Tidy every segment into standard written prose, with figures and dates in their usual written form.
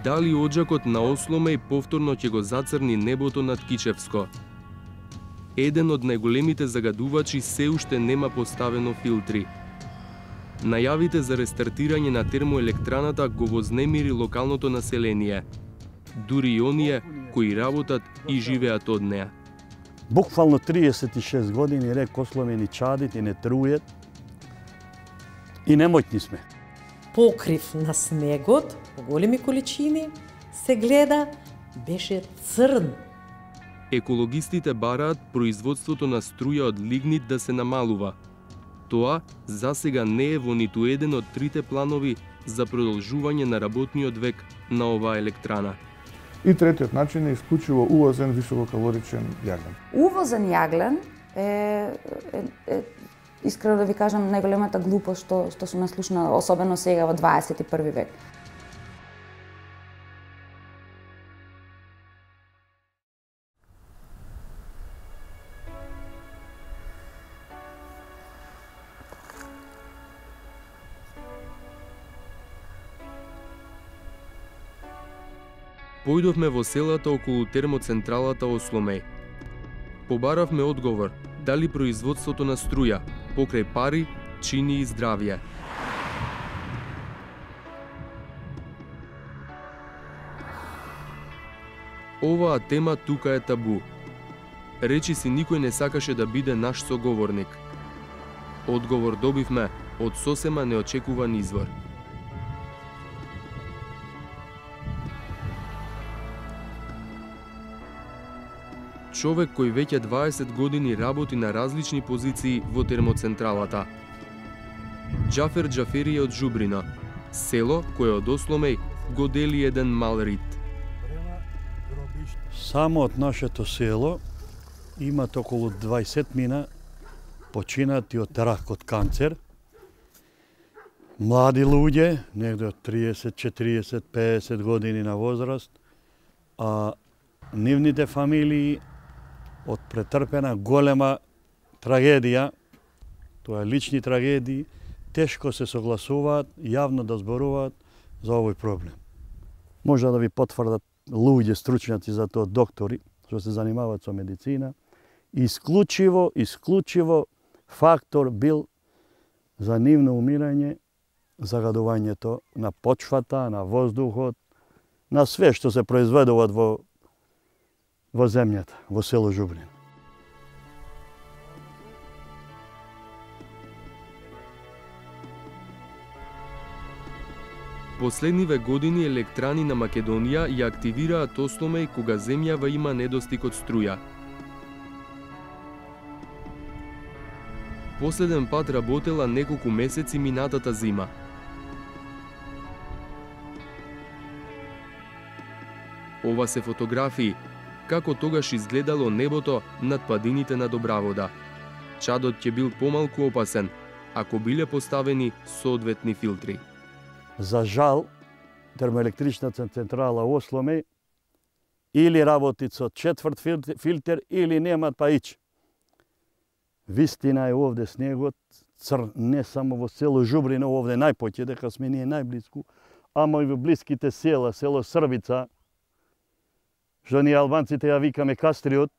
Дали оджакот на Осломеј повторно ќе го зацрни небото над Кичевско? Еден од најголемите загадувачи се уште нема поставено филтри. Најавите за рестартирање на термоелектраната го вознемири локалното население, дури и оние кои работат и живеат од неа. Буквално 36 години рек Осломеј ни чадит и не трујет и немоќни сме. Покрив на снегот, по големи количини, се гледа, беше црн. Екологистите бараат производството на струја од лигнит да се намалува. Тоа засега не е во ниту еден од трите планови за продолжување на работниот век на оваа електрана. И третиот начин е исклучиво увозен висококалоричен јаглен. Увозен јаглен е искрено да ви кажам најголемата глупост што сум наслушна, особено сега во 21 век. Појдовме во селата околу термоцентралата Осломеј. Побаравме одговор дали производството на струја покрај пари чини и здравје. Оваа тема тука е табу. Речи си никој не сакаше да биде наш соговорник. Одговор добивме од сосема неочекуван извор. Човек кој веќе 20 години работи на различни позиции во термоцентралата. Џафер Џафери е од Жубрино, село кое од Осломеј го дели еден мал рит. Само од нашето село имат околу 20 мина починати од рак од канцер. Млади луѓе, негде од 30, 40, 50 години на возраст, а нивните фамилии од претрпена голема трагедија, тоа е лични трагедии, тешко се согласуваат, јавно да зборуваат за овој проблем. Може да ви потврдат луѓе стручњаци за тоа, доктори, што се занимаваат со медицина, исклучиво фактор бил за нивно умирање загадувањето на почвата, на воздухот, на све што се произведуваат во земјата, во село Жубрин. Последниве години електрани на Македонија ја активираат Осломеј кога земјава има недостиг од струја. Последен пат работела неколку месеци минатата зима. Ова се фотографии како тогаш изгледало небото над падините на Добравода. Чадот ќе бил помалку опасен ако биле поставени соодветни филтри. За жал, термоелектричната централа Осломеј или работи со четврт филтер или немат па ич. Вистина е овде снегот црн не само во село Жубрино, овде најпоќе дека сме ние најблиску, ама и во блиските села, село Србица, што ние албанците ја викаме Кастриот,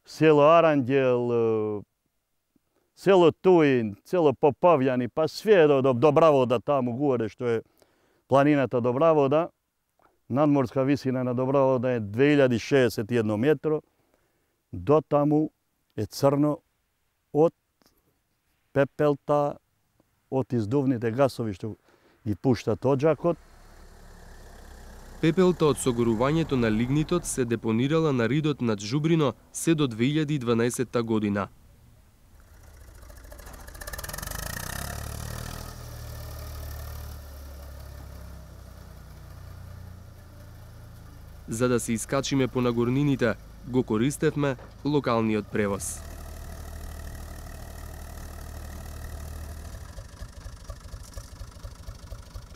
село Аранđел, село Туин, село Попавјани, па све до Добравода таму горе што е планината Добравода. Надморска висина на Добравода е 2061 метро. До таму е црно од пепелта, од издувните гасови што ги пуштат оджакот. Пепелта од согорувањето на лигнитот се депонирала на ридот над Жубрино се до 2012 година. За да се искачиме по нагорнините, го користевме локалниот превоз.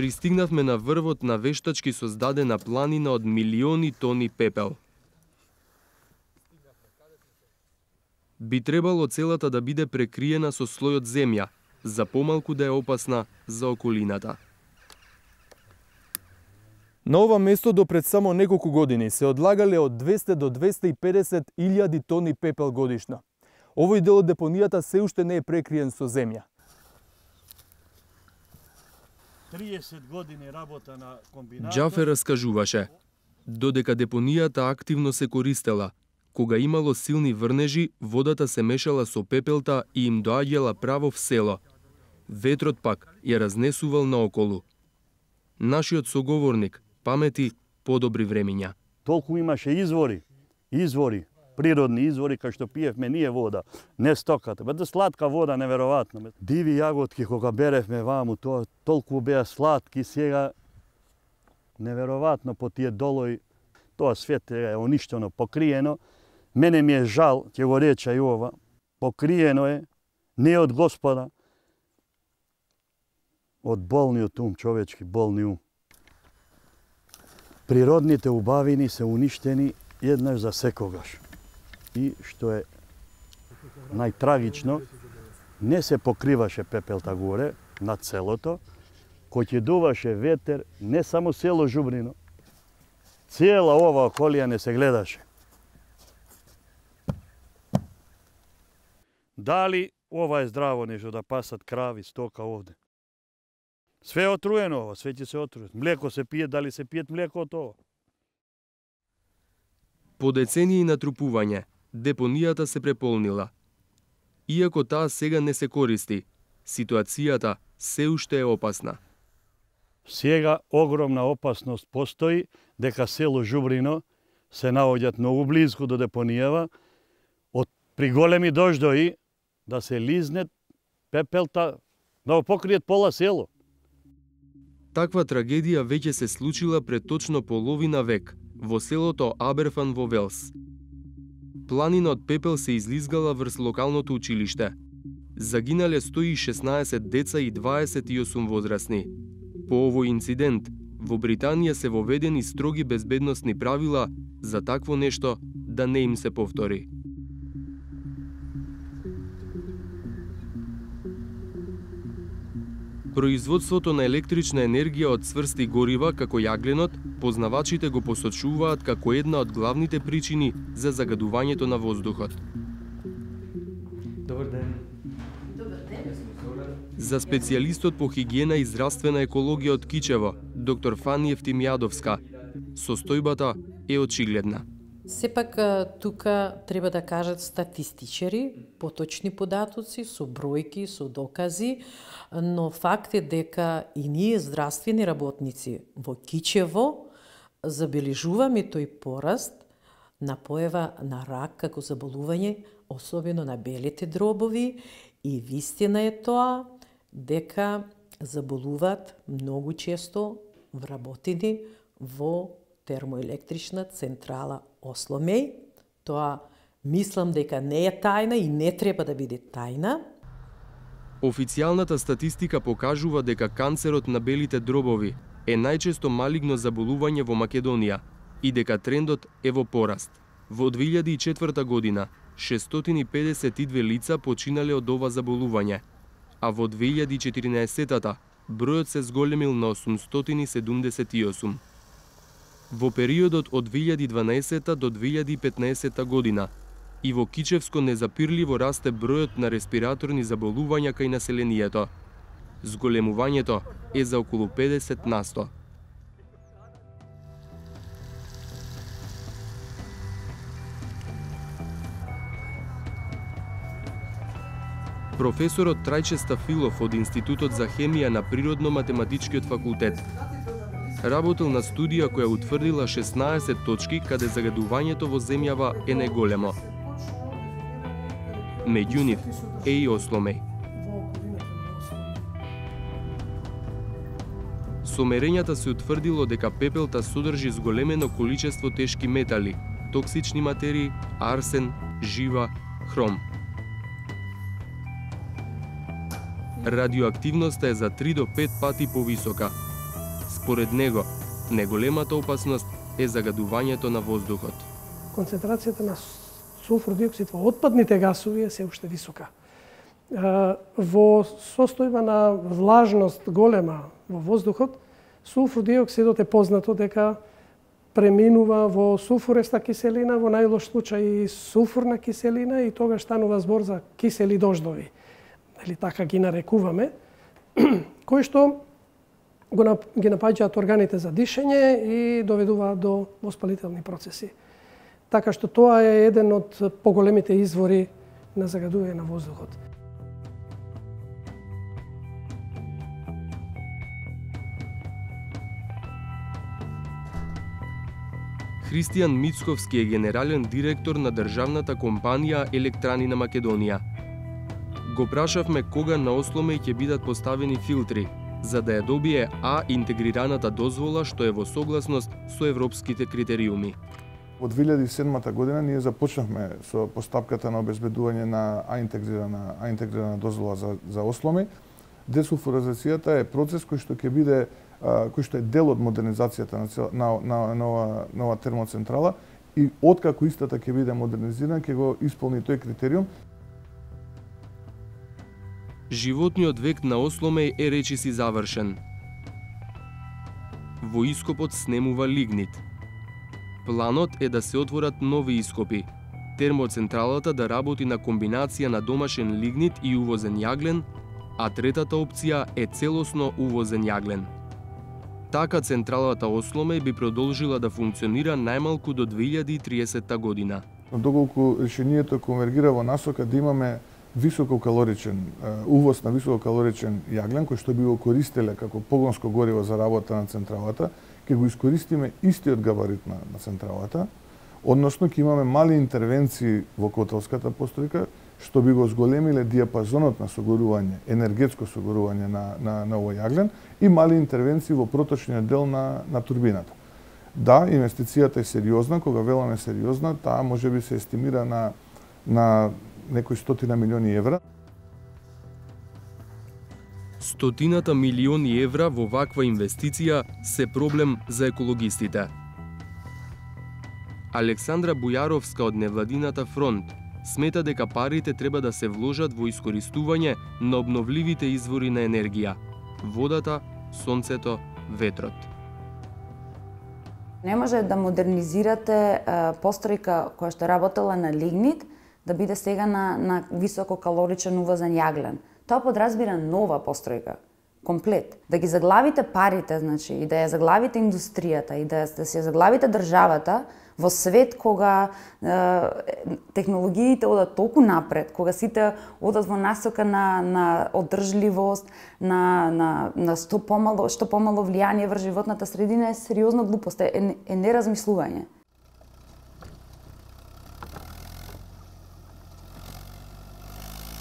Пристигнавме на врвот на вештачки создадена планина од милиони тони пепел. Би требало целата да биде прекриена со слојот земја, за помалку да е опасна за околината. На ова место до пред само неколку години се одлагале од 200 до 250 илјади тони пепел годишно. Овој дел од депонијата се уште не е прекриен со земја. 30 години работа на комбинатот. Џафер раскажуваше, додека депонијата активно се користела, кога имало силни врнежи, водата се мешала со пепелта и им доаѓала право в село. Ветрот пак ја разнесувал наоколу. Нашиот соговорник памети подобри времиња. Толку имаше извори, природни извори, кај што пиевме ние вода, не стоката. Бе, сладка вода, неверојатно. Диви јаготки кога беревме ваму, тоа толку беа сладки, сега неверојатно по тие долои, тоа свет е уништено, покриено. Мене ми е жал, ќе го реча и ова, покриено е, не од Господа, од болниот ум, човечки болни ум. Природните убавини се уништени еднаш за секогаш. И што е најтрагично, не се покриваше пепелта горе, над селото, кој ќе дуваше ветер, не само село Жубрино, цела ова околија не се гледаше. Дали ова е здраво нешто да пасат крави, стока овде? Све е отруено ова, све ќе се отруе. Млеко се пие, дали се пиет млеко од ова? По децении натрупување, депонијата се преполнила. Иако таа сега не се користи, ситуацијата се уште е опасна. Сега огромна опасност постои дека село Жубрино се наоѓаат многу близко до депонијава, при големи дождои да се лизнет пепелта, да го покриет пола село. Таква трагедија веќе се случила пред точно половина век во селото Аберфан во Велс. Планина од пепел се излизгала врз локалното училиште. Загинале 116 деца и 28 возрастни. По овој инцидент, во Британија се воведени строги безбедносни правила за такво нешто да не им се повтори. Производството на електрична енергија од цврсти горива, како јагленот, познавачите го посочуваат како една од главните причини за загадувањето на воздухот. Добар ден. За специјалистот по хигиена и здравствена екологија од Кичево, доктор Фани Евтимјадовска, состојбата е очигледна. Сепак тука треба да кажат статистичари, поточни податоци, со бројки, со докази, но факт е дека и ние здравствени работници во Кичево забележуваме тој пораст на појава на рак како заболување, особено на белите дробови, и вистина е тоа дека заболуваат многу често вработени во термоелектрична централа Осломеј. Тоа мислам дека не е тајна и не треба да биде тајна. Официјалната статистика покажува дека канцерот на белите дробови е најчесто малигно заболување во Македонија и дека трендот е во пораст. Во 2004 година 652 лица починале од ова заболување, а во 2014 бројот се зголемил на 878. Во периодот од 2012 до 2015 година и во Кичевско незапирливо расте бројот на респираторни заболувања кај населението. Зголемувањето е за околу 50%. Професорот Трајче Стафилов од Институтот за хемија на Природно-математичкиот факултет работел на студија која утврдила 16 точки каде загадувањето во земјава е најголемо. Меѓу нив е и Осломеј. Со мерењата се утврдило дека пепелта содржи зголемено количество тешки метали, токсични материи, арсен, жива, хром. Радиоактивноста е за 3 до 5 пати повисока. Според него, неголемата опасност е загадувањето на воздухот. Концентрацијата на сулфур диоксид во отпадните гасови е се уште висока. Во состојба на влажност голема во воздухот, Сулфур диоксидот е познато дека преминува во сулфуреста киселина, во најлош случај и сулфурна киселина, и тогаш станува збор за кисели дождови. Или така ги нарекуваме, кои што ги напаѓаат органите за дишење и доведуваат до воспалителни процеси. Така што тоа е еден од поголемите извори на загадување на воздухот. Христијан Мицковски е генерален директор на државната компанија Електрани на Македонија. Го прашавме кога на Осломеј ќе бидат поставени филтри, за да ја добие А интегрираната дозвола што е во согласност со европските критериуми. Во 2007 година ние започнавме со постапката на обезбедување на А интегрирана дозвола за Осломеј. Десулфуризацијата е процес кој што ќе биде кој што е дел од модернизацијата на нова термоцентрала, и откако истата ќе биде модернизирана, ќе го исполни тој критериум. Животниот век на Осломеј е речиси завршен. Во ископот снемува лигнит. Планот е да се отворат нови ископи. Термоцентралата да работи на комбинација на домашен лигнит и увозен јаглен, а третата опција е целосно увозен јаглен. Така централата Осломеј би продолжила да функционира најмалку до 2030 година. Доколку решението конвергира во насока да имаме висококалоричен увоз на висококалоричен јаглен кој што би го користеле како погонско гориво за работа на централата, ќе го искористиме истиот габарит на централата, односно ќе имаме мали интервенции во котелската постројка што би го зголемиле диапазонот на согорување, енергетско согорување на овој јаглен, и мали интервенции во проточниот дел на турбината. Да, инвестицијата е сериозна, кога веламе сериозна, таа можеби се естимира на некои 100 милиони евра. 100 милиони евра во ваква инвестиција се проблем за екологистите. Александра Бујаровска од невладината Фронт смета дека парите треба да се вложат во искористување на обновливите извори на енергија – водата, сонцето, ветрот. Не може да модернизирате постројка која што работела на лигнит да биде сега на висококалоричен увозен јаглен. Тоа подразбира нова постројка, комплет. Да ги заглавите парите, значи, и да ја заглавите индустријата, и да се заглавите државата во свет кога технологиите одат толку напред, кога сите одат во насока на одржливост, на што помало влијание врз животната средина, е сериозна глупост, е неразмислување.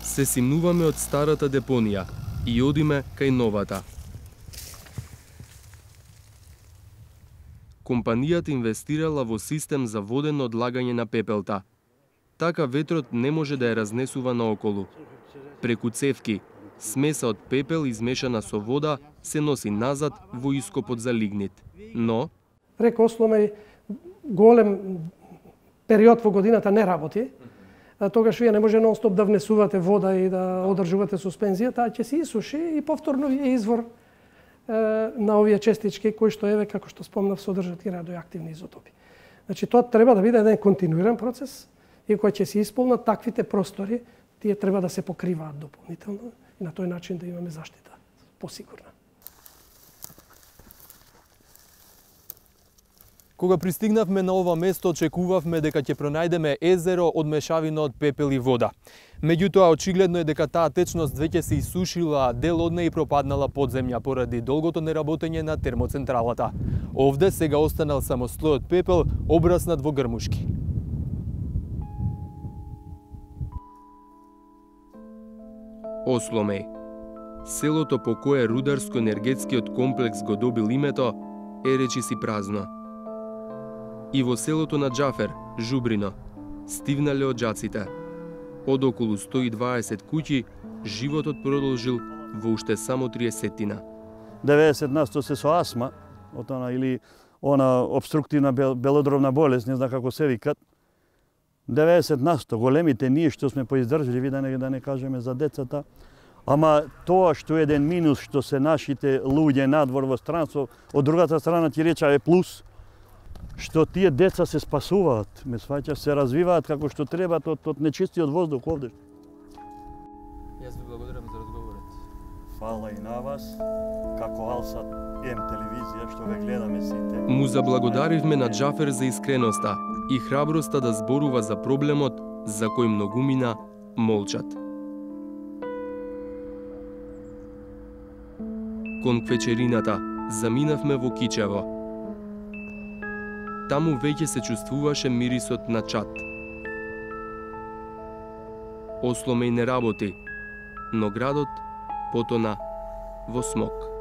Се симнуваме од старата депонија и одиме кај новата. Компанијата инвестирала во систем за водено одлагање на пепелта. Така ветрот не може да ја разнесува наоколу. Преку цевки, смеса од пепел измешана со вода се носи назад во ископот за лигнит. Но Река Осломеј голем период во годината не работи. Тогаш вие не може нон-стоп да внесувате вода и да одржувате суспензија, таа ќе се исуши и повторно е извор на овие честички кои што еве, како што спомнав, содржат и радиоактивни изотопи. Значи тоа треба да биде еден континуиран процес и кога ќе се исполнат таквите простори, тие треба да се покриваат дополнително и на тој начин да имаме заштита посигурна. Кога пристигнавме на ова место, очекувавме дека ќе пронајдеме езеро од мешавина од пепел и вода. Меѓутоа, очигледно е дека таа течност веќе се исушила, а дел од неја и пропаднала под земја поради долгото неработење на термоцентралата. Овде сега останал само слојот пепел, обраснат во грмушки. Осломеј. Селото по кое рударско-енергетскиот комплекс го добил името е речиси празно. И во селото на Џафер, Жубрино, стивнале оджаците. Од околу 120 куќи, животот продолжил во уште само 30-тина. 90% се со астма, или она обструктивна белодробна болест, не знам како се викат. 90% големите ние што сме поиздржливи, да не кажеме за децата, Ама тоа што е еден минус, што се нашите луѓе надвор во странство, од другата страна ти реча е плюс, што тие деца се спасуваат, ме сваќаш, се развиваат како што треба од нечистиот воздух овде. Јас ви благодарам за разговорот. Фала и на вас, како Алсат М телевизија што ве гледаме сите. Му заблагодаривме на Џафер за искреноста и храброста да зборува за проблемот за кој многумина молчат. Кон квечерината заминавме во Кичево. Таму веќе се чувствуваше мирисот на чад. Осло ме и не работи, но градот потона во смок.